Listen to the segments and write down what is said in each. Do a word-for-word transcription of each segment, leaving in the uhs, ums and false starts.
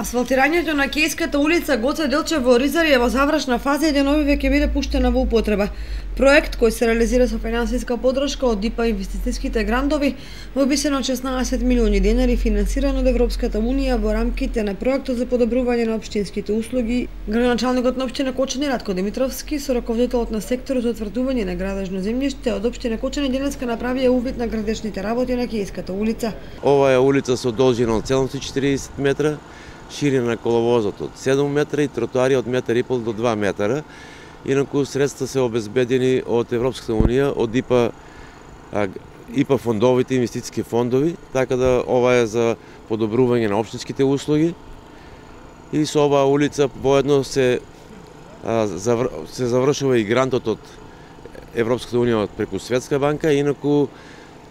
Асфалтирањето на Кејската улица Гоце Делчев во Оризари е во завршна фаза и деновиве ќе биде пуштена во употреба. Проект кој се реализира со финансиска подршка од ИПА инвестицијските грантови во висина од шеснаесет милиони денари, финансиран од Европската унија во рамките на проектот за подобрување на општинските услуги. Градоначалникот на општина Кочани Ратко Димитровски со раководителот на секторот за утврдување на градежно земјиште од општина Кочани денеска направија увид на градешните работи на Кејската улица. Ова е улица со должина од седумстотини и четиридесет метра, ширина на коловозот од седум метра и тротоари од метар и пол до два метра. Инаку средства се обезбедени од Европската унија, од ИПА, ИПА фондовите, инвестицијски фондови, така да ова е за подобрување на општинските услуги. И со оваа улица воедно се се завршува и грантот од Европската унија преку Светска банка, инаку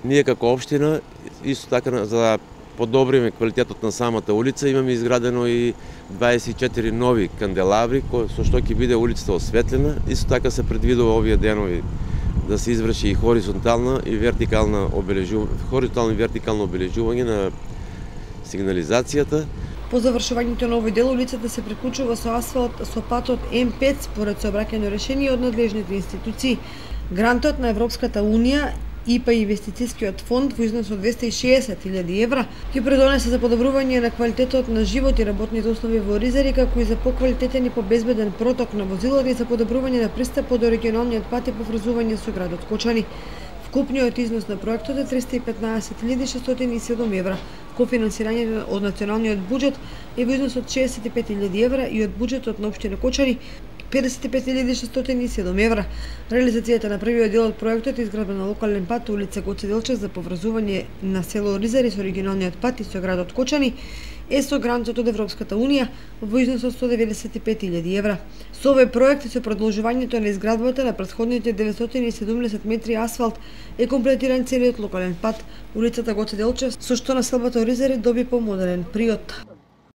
ние како општина исто така за да подобриме квалитетот на самата улица, имаме изградено и дваесет и четири нови канделабри, со што ќе биде улицата осветлена. Исто така се предвидува овие денови да се изврши и хоризонтална и вертикална обележување, хоризонтално и вертикално обележување на сигнализацијата. По завршувањето на овој дел улицата се приклучува со асфалт со патот М пет според сообраќајно решение од надлежните институции. Грантот на Европската унија ИПА инвестицијскиот фонд во износ од двесте и шеесет илјади евра ќе придонесе за подобрување на квалитетот на живот и работните услови во Оризари, како и за поквалитетен и побезбеден проток на возилата и за подобрување на пристапот до регионалниот пат и поврзување со градот Кочани. Вкупниот износ на проектот е триста и петнаесет илјади шестстотини и седум евра. Кофинансирањето од националниот буџет е во износ од шеесет и пет илјади евра и од буџетот на општина Кочани педесет и пет илјади шестстотини и седум евра. Реализацијата на првиот дел од проектот е изградба на локален пат улица Гоце Делчев за поврзување на село Оризари со регионалниот пат и со градот Кочани е со грантот од Европската унија во износ од сто деветдесет и пет илјади евра. Со овој проект и со продолжувањето на изградбата на претходните деветстотини и седумдесет метри асфалт е комплетиран целиот локален пат улицата Гоце Делчев, со што населбата Оризари доби помодерен приод.